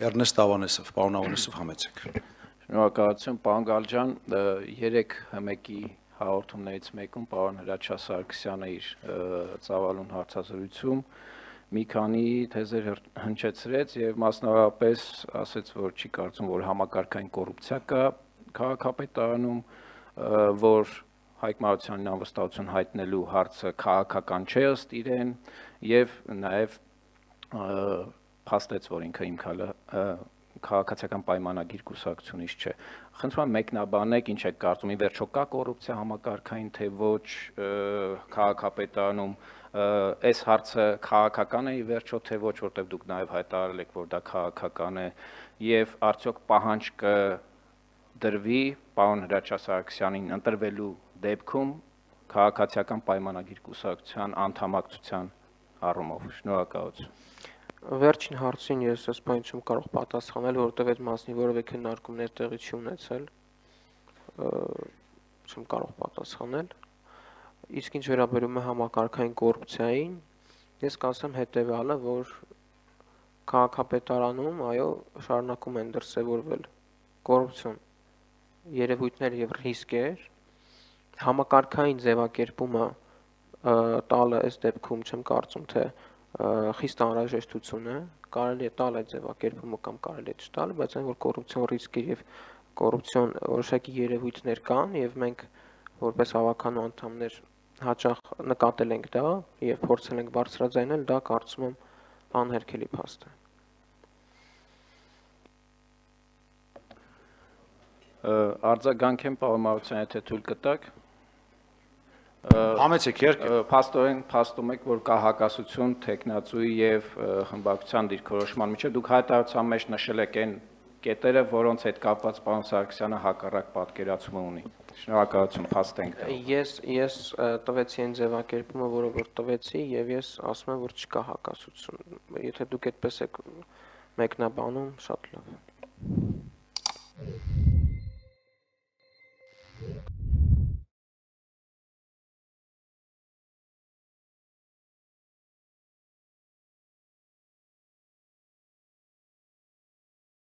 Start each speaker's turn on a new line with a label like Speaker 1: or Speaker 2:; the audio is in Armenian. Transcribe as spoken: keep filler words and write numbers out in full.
Speaker 1: Էրնեստ Ավանեսով, պարոն Ավանեսով համեցեք։
Speaker 2: Շնորհակալություն, պարոն Գալջան, երեք մեկի հաղորդումներից մեկում պարոն Հրաչյա Սարգսյանը իր ծավալուն հարցազրույցում մի քանի թեզեր հնչեցրեց եւ մասնավորապես ասաց, որ չի կարծում, որ համակարգային կոռուպցիա կա քաղաքապետարանում, որ Հայկ Մարությյանին անվստահություն հայտնելու հարցը քաղաքական չէ ըստ իրեն եւ նաեւ փաստեց, որ ինքը հիմքալը քաղաքացիական պայմանագիր կուսակցությունից չէ։ Խնդրում եմ մեկնաբանեք, ինչ եք կարծում, ի վերջո կա կոռուպցիա համակարգային, թե ոչ քաղաքապետարանում, այս հարցը քաղաքական է ի վերջո, թե ոչ, որտեղ դուք նաև հայտարարել եք, որ դա քաղաքական է, եւ արդյոք պահանջ կդրվի պարոն Հրաչյա Սարգսյանին ընտրվելու դեպքում քաղաքացիական պայմանագիր կուսակցության անդամակցության առումով։ Շնորհակալություն։
Speaker 3: Վերջին հարցին ես այս բանը չեմ կարող պատասխանել, որովհետև այդ մասնի որևէ քննարկումներ տեղի չի ունեցել, չեմ կարող պատասխանել։ Իսկ ինչ վերաբերում է համակարգային կոռուպցիային, ես կասեմ հետևյալը, որ քաղաքապետարանում, այո, շարունակում են դրսևորվել կոռուպցիոն երևույթներ եւ ռիսկեր, համակարգային ձևակերպումը տալը այս դեպքում չեմ կարծում, թե խիստ անհրաժեշտություն է, կարելի է տալ այդ ձևակերպումը կամ կարելի է չտալ, բայց այն որ կոռուպցիոն ռիսկեր եւ կոռուպցիոն որոշակի երևույթներ կան եւ մենք որպես հավաքանու անդամներ հաճախ նկատել ենք դա եւ փորձել ենք բարձրաձայնել, դա կարծում եմ անհերքելի փաստ է։
Speaker 2: Արձագանք եմ պարոն Մարությանը, եթե թույլ կտաք։
Speaker 1: Համեցեք երկը։
Speaker 2: Փաստորեն փաստում եք, որ կա հակասություն տեխնացուի եւ խմբակցության դիրքորոշման միջեւ։ Դուք հայտարարության մեջ նշել եք այն կետերը, որոնց հետ կապված պարոն Սարգսյանը հակառակ պատկերացում ունի։ Շնորհակալություն, փաստ ենք տալու։
Speaker 3: Ես ես տվեցի այն ձևակերպումը, որը որ տվեցի եւ ես ասում եմ, որ չկա հակասություն։ Եթե դուք այդպես եք մեկնաբանում, շատ լավ է։